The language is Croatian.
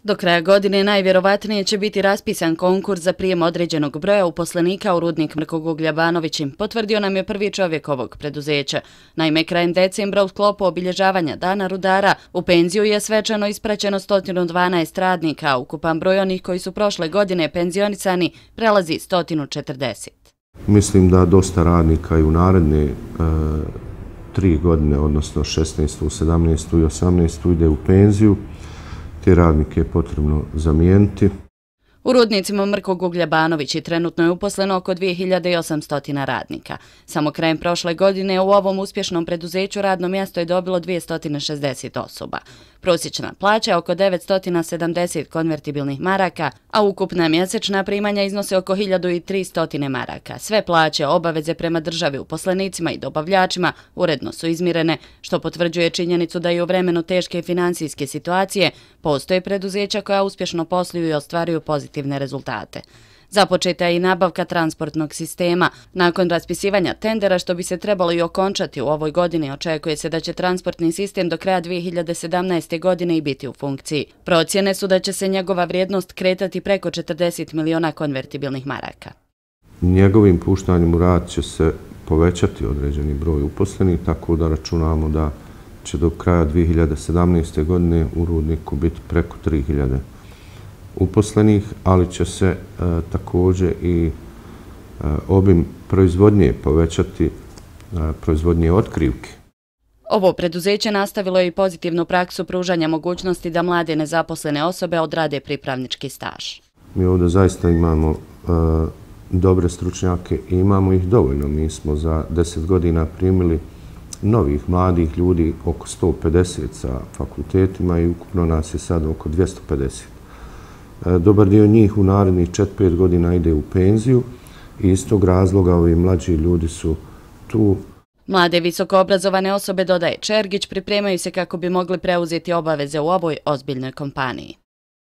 Do kraja godine najvjerovatnije će biti raspisan konkurs za prijem određenog broja uposlenika u rudnik Mrkog uglja Banovići, potvrdio nam je prvi čovjek ovog preduzeća. Naime, krajem decembra u sklopu obilježavanja Dana rudara u penziju je svečano ispraćeno 112 radnika, a ukupan broj onih koji su prošle godine penzionisani prelazi 140. Mislim da dosta radnika i u naredne 3 godine, odnosno 16., 17. i 18. ide u penziju. Te radnike je potrebno zamijeniti. U rudnicima Mrkog uglja Banovići trenutno je uposleno oko 2800 radnika. Samo krajem prošle godine u ovom uspješnom preduzeću radno mjesto je dobilo 260 osoba. Prosječna plaća je oko 970 konvertibilnih maraka, a ukupna mjesečna primanja iznose oko 1300 maraka. Sve plaće, obaveze prema državi, uposlenicima i dobavljačima uredno su izmirene, što potvrđuje činjenicu da i u vremenu teške financijske situacije postoje preduzeća koja uspješno posluju i ostvaruju pozitivne rezultate. Započeta je i nabavka transportnog sistema. Nakon raspisivanja tendera, što bi se trebalo i okončati u ovoj godini, očekuje se da će transportni sistem do kraja 2017. godine i biti u funkciji. Procjene su da će se njegova vrijednost kretati preko 40 miliona konvertibilnih maraka. Njegovim puštanjem u rad će se povećati određeni broj uposlenih, tako da računamo da će do kraja 2017. godine u rudniku biti preko 3000 uposlenih, ali će se također i obim proizvodnje povećati, proizvodnje otkrivke. Ovo preduzeće nastavilo je i pozitivnu praksu pružanja mogućnosti da mlade nezaposlene osobe odrade pripravnički staž. Mi ovdje zaista imamo dobre stručnjake i imamo ih dovoljno. Mi smo za 10 godina primili novih mladih ljudi oko 150 sa fakultetima i ukupno nas je sad oko 250. Dobar dio njih u narednih 4-5 godina ide u penziju i iz tog razloga ovi mlađi ljudi su tu. Mlade visokoobrazovane osobe, dodaje Čergić, pripremaju se kako bi mogli preuzeti obaveze u ovoj ozbiljnoj kompaniji.